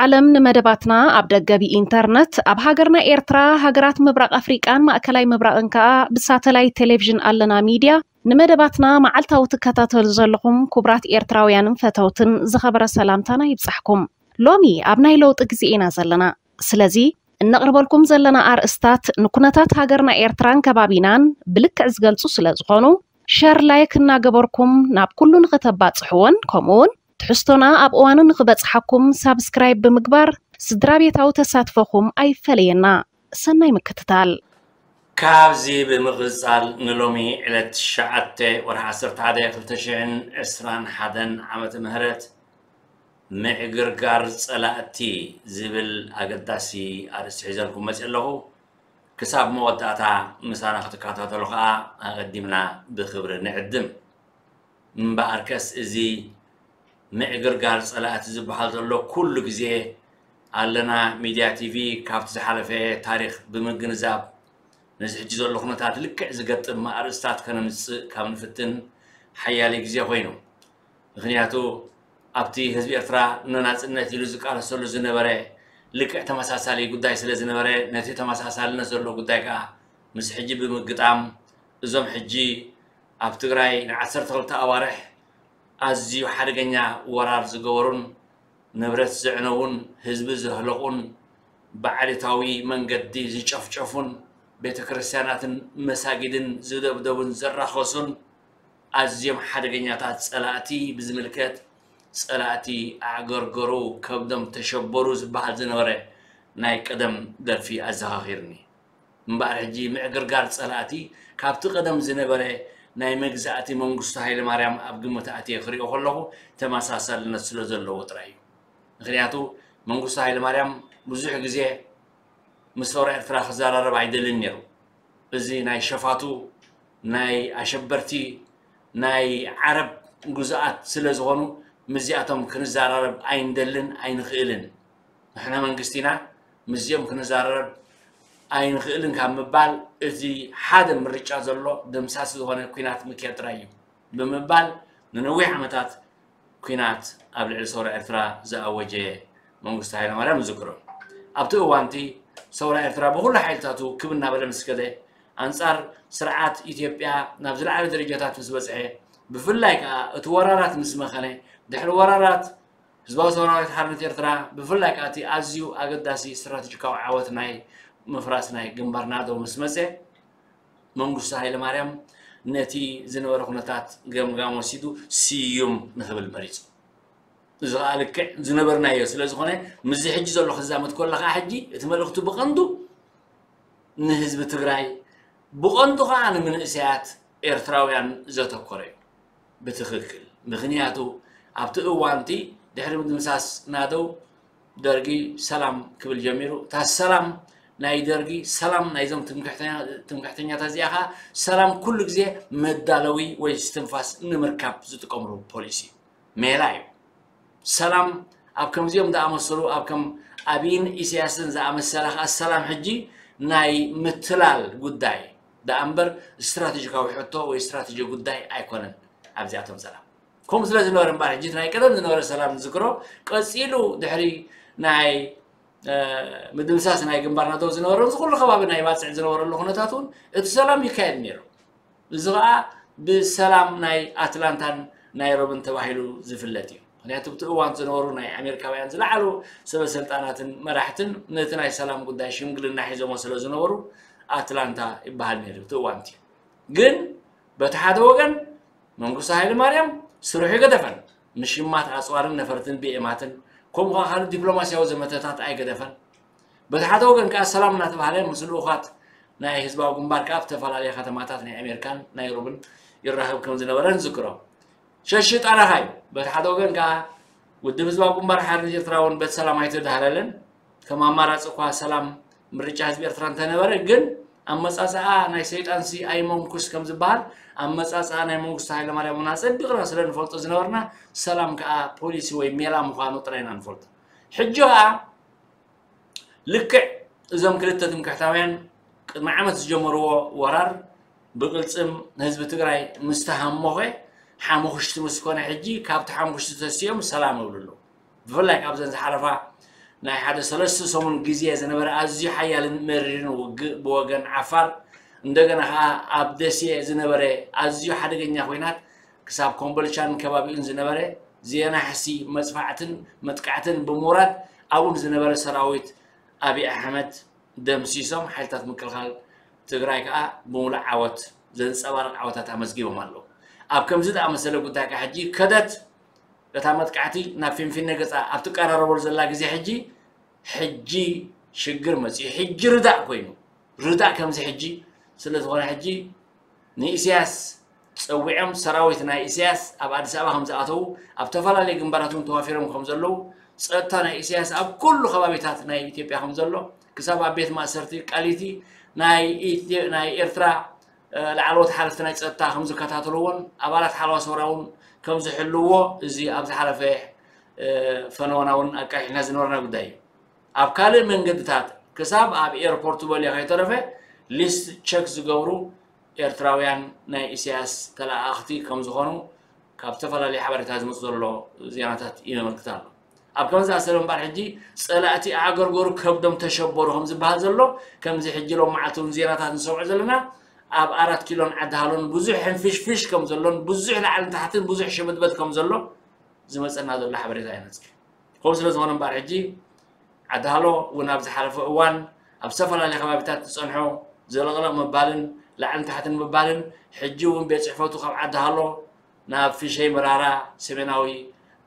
ዓለም ንመደባትና ኣብ ደገ ብኢንተርነት፣ ኣብ ሃገርና ኤርትራ፣ ሃገራት ምብራቕ ኣፍሪቃን ማእከላይ ምብራቕን ከኣ ብሳተላይት ቴሌቪዥን ኣለና ሚድያ ንመደባትና መዓልታዊ ትከታተሉ ዘለኹም ክቡራት ኤርትራውያንን ፈተውትን ዝኸበረ ሰላምታና ይብጻሕኩም። ሎሚ ኣብ ናይ ለውጢ ግዜ ኢና ዘለና። ስለዚ እነቕርበልኩም ዘለና ኣርእስታት ንኩነታት ሃገርና ኤርትራን ከባቢናን ብልክዕ ዝገልጹ ስለ ዝኾኑ፣ ሸር ላይክ እናገበርኩም ናብ ኩሉ ንኽተባጽሕዎን ከምኡውን ትሕዝቶና ኣብ እዋኑ ንኽበጽሓኩም ሳብስክራይብ ብምግባር ስድራ ቤታዊ ተሳትፎኹም ኣይፈለየና። ሰናይ ምክትታል። ካብዚ ብምቕጻል ንሎሚ ዕለት ትሽዓተ ወርሒ ዓሰርተ ሓደ ክልተ ሽሕን ዕስራን ሓደን ዓመተ ምህረት ምዕግርጋር ጸላእቲ ዝብል ኣገዳሲ ኣርእስቲ ሒዘልኩም መጽእ ኣለኹ። ክሳብ መወዳእታ ምሳና ክትከታተሉ ከኣ ኣቐዲምና ብኽብሪ ንዕድም። እምበኣርከስ እዚ ምዕግርጋር ጸላእቲ ዝበሃል ዘሎ ኩሉ ግዜ ኣለና ሚድያ ቲቪ ካብቲ ዝሓለፈ ታሪኽ ብምግንዛብ ነዚ ሕጂ ዘሎ ኩነታት ልክዕ ዝገጥም ኣርእስታት ከነምጽእ ካብ ንፍትን ሓያለ ግዜ ኮይኑ። ምኽንያቱ ኣብቲ ህዝቢ ኤርትራ ንናጽነት ኢሉ ዝቃለሰሉ ዝነበረ ልክዕ ተመሳሳሊ ጉዳይ ስለ ዝነበረ ነቲ ተመሳሳልነት ዘለዎ ጉዳይ ከኣ ምስ ሕጂ ብምግጣም እዞም ሕጂ ኣብ ትግራይ ንዓሰርተ ክልተ ኣዋርሕ ኣዝዩ ሓደገኛ ወራር ዝገበሩን ንብረት ዘዕነዉን ህዝቢ ዘህለቑን ብዓሌታዊ መንገዲ ዝጨፍጨፉን ቤተ ክርስቲያናትን መሳጊድን ዝደብደቡን ዘራኸሱን ኣዝዮም ሓደገኛታት ጸላእቲ ብዝምልከት ጸላእቲ ኣዕገርገሩ ከብዶም ተሸበሩ ዝበሃል ዝነበረ ናይ ቀደም ደርፊ ኣዘኻኺርኒ። እምበኣር ሕጂ ምዕግርጋር ጸላእቲ ካብቲ ቀደም ዝነበረ ናይ መግዛእቲ መንግስቱ ሃይለማርያም ኣብ ግምት ኣትየ ክሪኦ ከለኹ ተመሳሳልነት ስለ ዘለዎ ጥራይ እዩ። ምኽንያቱ መንግስቱ ሃይለማርያም ብዙሕ ግዜ ምስ ሰውራ ኤርትራ ክዘራረብ ኣይደልን ነይሩ። እዚ ናይ ሸፋቱ ናይ ኣሸበርቲ ናይ ዓረብ ግዙኣት ስለ ዝኾኑ ምስዚኣቶም ክንዘራረብ ኣይንደልን ኣይንኽእልን። ንሕና መንግስቲ ኢና ምስዚኦም ክንዘራረብ ኣይንኽእልን ካብ ምባል እቲ ሓደ ምርጫ ዘሎ ደምሳሲ ዝኾነ ኲናት ምክያድ ጥራይ እዩ ብምባል ንነዊሕ ዓመታት ኲናት ኣብ ልዕሊ ሰውራ ኤርትራ ዝኣወጀ መንግስቱ ሃይለማርያም ንዝክሮ። ኣብቲ እዋንቲ ሰውራ ኤርትራ ብኹሉ ሓይልታቱ ክብ እናበለ ምስ ከደ ኣንጻር ስርዓት ኢትዮጵያ ናብ ዝለዓለ ደረጃታት ምስ በጽሐ ብፍላይ ከኣ እቲ ወራራት ምስ መኸነ ድሕሪ ወራራት ህዝባዊ ሰውራዊት ሓርነት ኤርትራ ብፍላይ ከኣ እቲ ኣዝዩ ኣገዳሲ ስትራተጂካዊ ዓወት ናይ ምፍራስ ናይ ግንባር ናደው ምስ መጸ መንግስቱ ሃይለማርያም ነቲ ዝነበረ ኩነታት ገምጋም ወሲዱ ስዩም ንኽብል መሪጹ። እዚ ከዓ ልክዕ ዝነበርናዮ ስለ ዝኾነ ምስዚ ሕጂ ዘሎ ክዛመድ ከሎ ከዓ ሕጂ እቲ መልእኽቱ ብቐንዱ ንህዝቢ ትግራይ ብቐንዱ ከዓ ንምንእሰያት ኤርትራውያን ዘተኮረ እዩ። ብትኽክል ምኽንያቱ ኣብቲ እዋንቲ ድሕሪ ምድምሳስ ናደው ደርጊ ሰላም ክብል ጀሚሩ። እታ ሰላም ናይ ደርጊ ሰላም ናይዞም ትምክሕተኛታት እዚኣ ከዓ ሰላም ኩሉ ግዜ መዳለዊ ወይ ስትንፋስ ንምርካብ ዝጥቀምሉ ፖሊሲ ሜላ እዩ። ሰላም ኣብ ከምዚኦም ዝኣመሰሉ ኣብ ከም ኣብይን ኢሳያስን ዝኣመሰለ ከዓ ሰላም ሕጂ ናይ ምትላል ጉዳይ ደኣ እምበር ስትራቴጂካዊ ሕቶ ወይ ስትራቴጂ ጉዳይ ኣይኮነን። ኣብዚኣቶም ሰላም ከምኡ ስለ ዝነበረ እምበኣር ሕጂ ናይ ቀደም ዝነበረ ሰላም ንዝክሮ ቀፂሉ ድሕሪ ናይ ምድምሳስ ናይ ግንባር ናቶ ዝነበረ እዚ ኩሉ ከባቢ ናይ ባፅዕ ዝነበረሉ ኩነታት እውን እቲ ሰላም ይካየድ ነይሩ። እዚ ከዓ ብሰላም ናይ ኣትላንታን ናይሮብን ተባሂሉ ዝፍለጥ እዩ። ምክንያቱ ብቲ እዋን ዝነበሩ ናይ ኣሜሪካውያን ዝለዓሉ ሰበ ስልጣናትን መራሕትን ነቲ ናይ ሰላም ጉዳይ ሽምግልና ሒዞሞ ስለ ዝነበሩ ኣትላንታ ይበሃል ነይሩ እቲ እዋን እቲ። ግን በቲ ሓደ ወገን መንግስቱ ሃይለ ማርያም ስርሑ ይገደፈን ምሽማት ኣፅዋርን ነፈርትን ብኤማትን ከምኡ ከዓ ካልእ ዲፕሎማሲያዊ ዘመተታት ኣይገደፈን። በቲ ሓደ ወገን ከዓ ሰላም እናተባሃለ ምስ ልኡኻት ናይ ህዝባዊ ግንባር ከዓ ኣብ ዝተፈላለየ ከተማታት ናይ ኣሜሪካን ናይሮብን ይራኸብ ከም ዝነበረ ንዝክሮ። ሸሺ ጣራኻ እዩ። በቲ ሓደ ወገን ከዓ ውድብ ህዝባዊ ግንባር ሓርነት ኤርትራ እውን በቲ ሰላም ኣይተዳህለለን። ከም ኣማራፂ እኳ ሰላም ምርጫ ህዝቢ ኤርትራ እንተነበረ ግን ኣመፃፅኣ ናይ ሰይጣንሲ ኣይመንኩስ ከም ዝበሃል ኣመፃፅኣ ናይ መንግስቱ ሃይለማርያም እውን ኣፀቢቕና ስለ ንፈልጦ ዝነበርና ሰላም ከዓ ፖሊሲ ወይ ሜላ ምዃኑ ጥራይ ኢና ንፈልጦ። ሕጂ ከዓ ልክዕ እዞም ክልተ ትምክሕታውያን ቅድሚ ዓመት ዝጀመርዎ ወራር ብቅልፅም ህዝቢ ትግራይ ምስ ተሃሞኸ ሓሙኽሽቲ ምስ ኮነ ሕጂ ካብቲ ሓሙኽሽቲ ተሲኦም ሰላም ይብሉ ኣለዉ። ብፍላይ ካብዘን ዝሓለፋ ናይ ሓደ ሰለስተ ሰሙን ግዜ ዝነበረ ኣዝዩ ሓያልን መሪርን ውግእ ብወገን ዓፋር፣ እንደገና ኸዓ ኣብ ደሴ ዝነበረ ኣዝዩ ሓደገኛ ኹናት ክሳብ ኮምቦልቻን ከባቢኡን ዝነበረ ዘየናሕሲ መጥፋዕትን መጥቃዕትን ብምውራድ ኣብኡ ዝነበረ ሰራዊት ኣብይ ኣሕመድ ደምሲሶም ሓይልታት ምክልኻል ትግራይ ከዓ ብምሉእ ዓወት ዘንፀባርቕ ዓወታት ኣመዝጊቦም ኣለዉ። ኣብ ከምዚ ዝኣመሰለ ጉዳይ ከዓ ሕጂ ከደት እታ መጥቃዕቲ ናብ ፊንፊነ ገፃ ኣብ ትቀራረበሉ ዘላ ግዜ ሕጂ ሕጂ ሽግር መፅዩ ሕጂ ርዳእ ኮይኑ ርዳእ ከምዚ ሕጂ ስለ ዝኾነ ሕጂ ንኢሳያስ ፀዊዖም ሰራዊት ናይ ኢሳያስ ኣብ ኣዲስ ኣበባ ከም ዝኣተዉ ኣብ ተፈላለየ ግንባራት እውን ተዋፊሮም ከም ዘለዉ ፀጥታ ናይ ኢሳያስ ኣብ ኩሉ ከባቢታት ናይ ኢትዮጵያ ከም ዘሎ ክሳብ ኣብ ቤት ማእሰርቲ ቃሊቲ ናይ ኢትዮ- ናይ ኤርትራ ላዕለዎት ሓለፍቲ ናይ ፀጥታ ከም ዝከታተልዎን ኣባላት ሓለዋ ሰውራ እውን ከም ዝሕልዎ እዚ ኣብ ዝሓለፈ ፈነወና እውን ኣቃሒሕና ዝነበርና ጉዳይ እዩ። ኣብ ካልእ መንገድታት ክሳብ ኣብ ኤርፖርት በልዮ ከይተረፈ ሊስት ቸክ ዝገብሩ ኤርትራውያን ናይ ኢሳያስ ተለኣኣኽቲ ከም ዝኾኑ ካብ ዝተፈላለዩ ሓበሬታ ዝመፁ ዘሎ ዜናታት የመልክት ኣሎ። ኣብ ከምዚ ኣሰለ እምበኣር ሕጂ ፀላእቲ ኣዕገርገሩ ከብዶም ተሸበሩ ከም ዝበሃል ዘሎ ከምዚ ሕጂ ሎም መዓልቲ እውን ዜናታት ንሰምዖ ዘለና ኣብ ኣራት ኪሎን ዓዲ ሃሎን ብዙሕ ሕንፍሽፍሽ ከም ዘሎን ብዙሕ ላዕልን ታሕትን ብዙሕ ሽብድበድ ከም ዘሎ ዝመፀና ዘሎ ሓበሬታ ይነፅር። ከምኡ ስለ ዝኾነ እምበኣር ሕጂ ዓዲ ሃሎ እውን ኣብ ዝሓለፈ እዋን ኣብ ዝተፈላለዩ ከባቢታት ዝፀንሖ ዘለቕለቕ ምባልን ላዕልን ታሕትን ምባልን ሕጂ እውን ቤት ፅሕፈቱ ካብ ዓዲ ሃሎ ናብ ፊሸይ መራራ ሰሜናዊ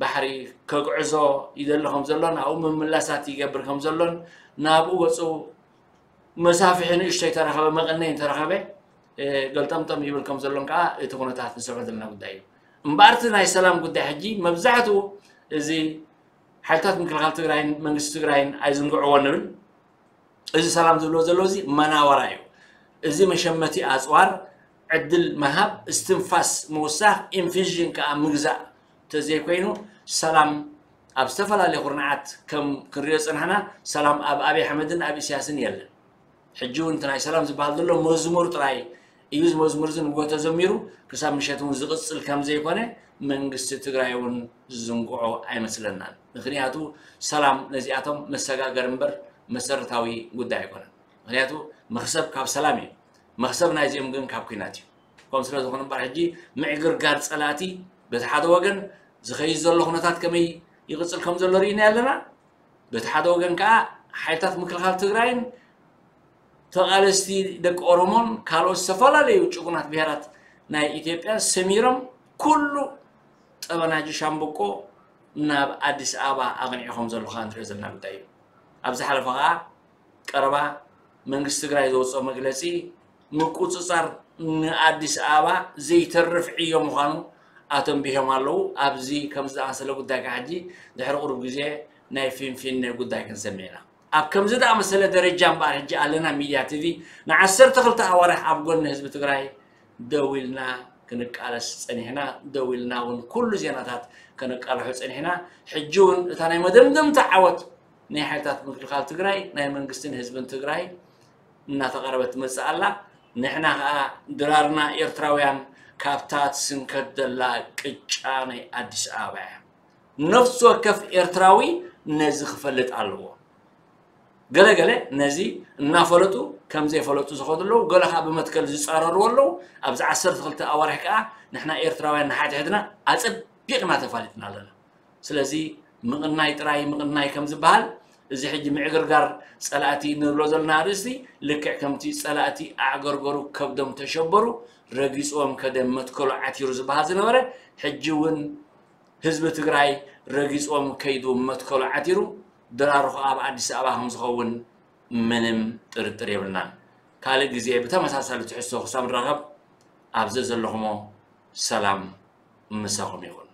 ባሕሪ ከግዕዞ ይደሊ ከም ዘሎን ኣብኡ ምምላሳት ይገብር ከም ዘሎን ናብኡ ገፁ መሳፍሒ ንእሽተይ ተረኸበ መቐነይ እንተረኸበ ገልጠምጠም ይብል ከም ዘሎን ከዓ እቲ ኩነታት ንሰምዖ ዘለና ጉዳይ እዩ። እምበኣርቲ ናይ ሰላም ጉዳይ ሕጂ መብዛሕትኡ እዚ ሓይልታት ምክልኻል ትግራይን መንግስቲ ትግራይን ኣይዝንግዕዎ ንብል። እዚ ሰላም ዝብሎ ዘሎ እዚ መናወራ እዩ። እዚ መሸመቲ ኣፅዋር ዕድል ምሃብ፣ እስትንፋስ ምውሳኽ፣ ኢንፊዥን ከዓ ምግዛእ ተዘይኮይኑ ሰላም ኣብ ዝተፈላለየ ኩርናዓት ከም ክንሪኦ ዝፀናሕና ሰላም ኣብ ኣብይ ኣሕመድን ኣብ ኢሳያስን የለን። ሕጂ እውን እቲ ናይ ሰላም ዝበሃል ዘሎ መዝሙር ጥራይ እዩ። እዚ መዝሙር እዚ ንግሆ ተዘሚሩ ክሳብ ምሸት እውን ዝቕፅል ከም ዘይኮነ መንግስቲ ትግራይ እውን ዝዝንግዖ ኣይመስለናን። ምክንያቱ ሰላም ነዚኣቶም መሰጋገር እምበር መሰረታዊ ጉዳይ ኣይኮነን። ምክንያቱ መክሰብ ካብ ሰላም እዩ። መክሰብ ናይዚኦም ግን ካብ ኲናት እዩ። ከም ስለ ዝኾነ እምበር ሕጂ ምዕግርጋር ፀላእቲ በቲ ሓደ ወገን ዝኸይድ ዘሎ ኩነታት ከመይ ይቕፅል ከም ዘሎ ርኢና ኣለና። በቲ ሓደ ወገን ከዓ ሓይልታት ምክልኻል ትግራይን ተቓለስቲ ደቂ ኦሮሞን ካልኦት ዝተፈላለዩ ጭጉናት ብሄራት ናይ ኢትዮጵያ ሰሚሮም ኩሉ ጠበናጁ ሻምብቆ ናብ ኣዲስ ኣበባ ኣቕኒዑ ከም ዘሎ ከዓ ንሪኦ ዘለና ጉዳይ እዩ። ኣብ ዝሓለፈ ከዓ ቀረባ መንግስቲ ትግራይ ዘውፅኦ መግለፂ ምቁፅፃር ንኣዲስ ኣበባ ዘይተርፍ ዕዮ ምዃኑ ኣተንቢሆም ኣለዉ። ኣብዚ ከምዚ ዝኣመሰለ ጉዳይ ከዓ ሕጂ ድሕሪ ቁሩብ ግዜ ናይ ፊንፊነ ጉዳይ ክንሰምዕ ኢና። ኣብ ከምዚ ዝኣመሰለ ደረጃ እምበኣር ሕጂ ኣለና ሚድያ ቲቪ ንዓሰርተ ክልተ ኣዋርሕ ኣብ ጎኒ ህዝቢ ትግራይ ደው ኢልና ክንቃለስ ፀኒሕና፣ ደው ኢልና እውን ኩሉ ዜናታት ከነቃልሖ ፀኒሕና። ሕጂ እውን እታ ናይ መደምደምታ ዓወት ናይ ሓይልታት ምክልኻል ትግራይ ናይ መንግስትን ህዝብን ትግራይ እናተቐረበት ትመፅእ ኣላ። ንሕና ከዓ ድራርና ኤርትራውያን ካብታ ትስንከት ዘላ ቅጫ ናይ ኣዲስ ኣበባ እያ። ነፍሲ ወከፍ ኤርትራዊ ነዚ ክፈልጥ ኣለዎ። ገለ ገለ ነዚ እናፈለጡ ከም ዘይፈለጡ ዝኸዱ ኣለዉ፣ ገለ ከዓ ብመትከል ዝፃረርዎ ኣለዉ። ኣብዚ ዓሰርተ ክልተ ኣዋርሕ ከዓ ንሕና ኤርትራውያን ንሓድሕድና ኣፀቢቕና ተፋሊጥና ኣለና። ስለዚ ምቕናይ ጥራይ ምቕናይ ከም ዝበሃል እዚ ሕጂ ምዕግርጋር ፀላእቲ ንብሎ ዘለና ኣርእስቲ ልክዕ ከምቲ ፀላእቲ ኣዕገርገሩ ከብዶም ተሸበሩ ረጊፅዎም ከደ መትከሉ ዓቲሩ ዝበሃል ዝነበረ ሕጂ እውን ህዝቢ ትግራይ ረጊፅዎም ከይዱ መትከሉ ዓቲሩ ድራሩ ከዓ ኣብ ኣዲስ ኣበባ ከም ዝኸውን ምንም ጥርጥር የብልናን። ካልእ ግዜ ብተመሳሳሊ ትሕዝቶ ክሳብ ንራኸብ ኣብ ዘዘለኹሞ ሰላም ምሳኹም ይኹን።